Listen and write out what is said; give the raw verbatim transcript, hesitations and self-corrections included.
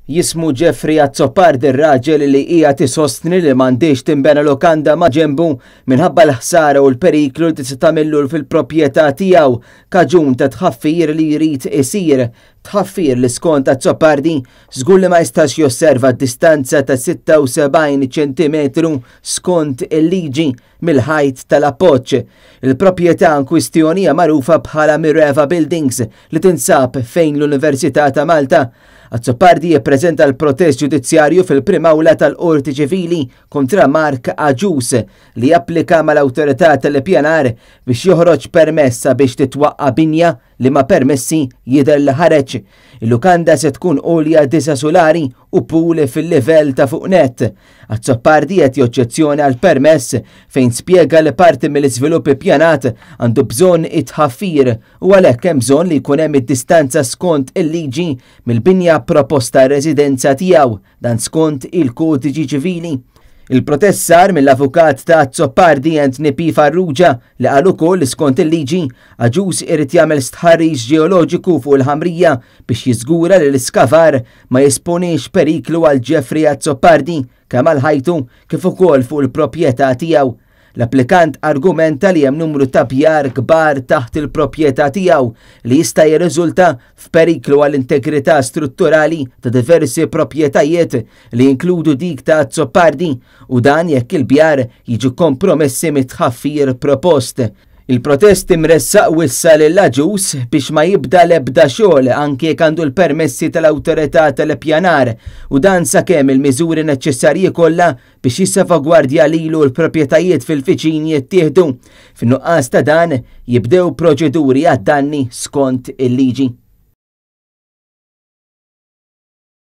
Jismu Jeffrey Azzopardi r-raġel li hija tisostni li m'għandix tinbena lokanda ma' ġembu minħabba l-ħsara u l-periklu li tista' tagħmillu fil-proprjetà tiegħu kaġun ta' tħaffir li jrid isir. Tħaffir li skont Azzopardi żgur li ma jistax josserva distanza ta' sitta u sebgħin ċentimetru skont il-liġi mill-ħajt tal-appoġġ. Il-proprjetà in kwistjoni hija magħrufa bħala Mireva Buildings li tinsab fejn l-Università ta' Malta. Azzopardi jippreżenta l-protest ġudizzjarju fil-Prim Awla tal-Qorti Ċivili kontra Mark Agius li applika mal-awtorità tal-ippjanar biex joħroġ permessa biex titwaqqa binja li ma permessi jidher li ħareġ. Il-lukanda se tkun għolja disa' sulari u pool fil-livell ta' fuq net. Azzopardi qed joġġezzjoni għal permess fejn spjega li parti mill-iżvilupp ippjanat għandu bżonn it-tħaffir u għalhekk hemm bżonn li jkun hemm id-distanza skont il-liġi mill-binja proposta residenza tiegħu, dan skont il-kodiġi ċivili. Il-protest sar mill-avukat ta' Azzopardi, Anthony P. Farrugia, li qal ukoll li skont il-liġi Agius irid jagħmel stħarriġ ġeoloġiku fuq il-ħamrija biex jiżgura li l-iskavar ma jesponix periklu għal Jeffrey Azzopardi kemm għal ħajtu kif ukoll fuq il-proprjetà tiegħu. L-applikant argumenta li hemm numru ta' bjar kbar taħt il-proprjetà tiegħu li jista' jirriżulta f'periklu għall-integrità strutturali ta' diversi proprjetajiet li jinkludu dik ta' Azzopardi, u dan jekk il-bjar jiġu kompromessi mit-tħaffir propost. Il-protest imressaq wissa lil Agius biex ma jibda l-ebda xogħol anke jekk għandu l-permessi tal-awtorità tal-ippjanar, u dan sakemm il-miżuri neċessarji kollha biex jissalvagwardja lilu l-proprjetajiet fil-viċin jittieħdu. Fin-nuqqas ta' dan jibdew proċeduri għad-danni skont il-liġi.